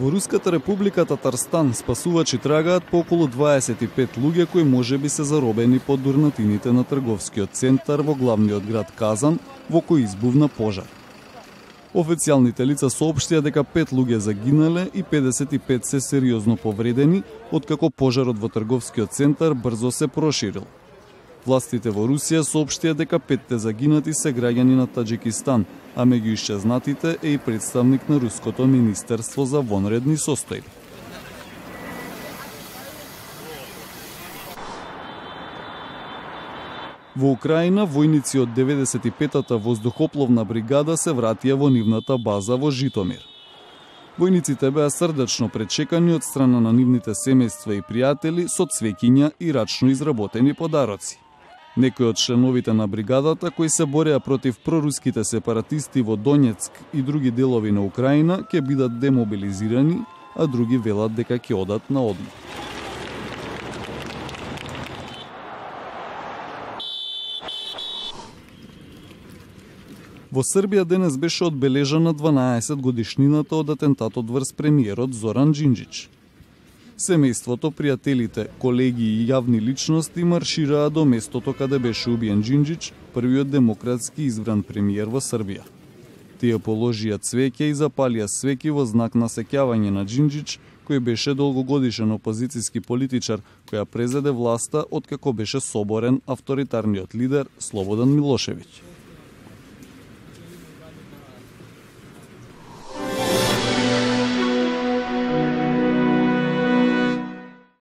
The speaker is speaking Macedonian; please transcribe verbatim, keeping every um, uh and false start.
Во Руската република Татарстан спасувачи трагаат по околу дваесет и пет луѓе кои можеби се заробени под дурнатините на трговскиот центар во главниот град Казан, во кој избувна пожар. Официјалните лица соопштија дека пет луѓе загинале и педесет и пет се сериозно повредени, откако пожарот во трговскиот центар брзо се проширил. Властите во Русија соопштија дека петте загинати се граѓани на Таџикистан, а меѓу исчезнатите е и представник на Руското министерство за вонредни состојби. Во Украина, војници од деветдесет и петата воздухопловна бригада се вратија во нивната база во Житомир. Војниците беа срдечно пречекани од страна на нивните семејства и пријатели со цвеќиња и рачно изработени подароци. Некои од членовите на бригадата кои се бореа против проруските сепаратисти во Донецк и други делови на Украина ќе бидат демобилизирани, а други велат дека ќе одат на одмор. Во Србија денес беше одбележана дванаесет годишнината од атентатот врз премиерот Зоран Џинџич. Семејството, пријателите, колеги и јавни личности маршираа до местото каде беше убиен Џинџич, првиот демократски избран премиер во Србија. Тие положија цвеќе и запалија свеќи во знак на сеќавање на Џинџич, кој беше долгогодишен опозицијски политичар, која презеде власта откако беше соборен авторитарниот лидер Слободан Милошевиќ.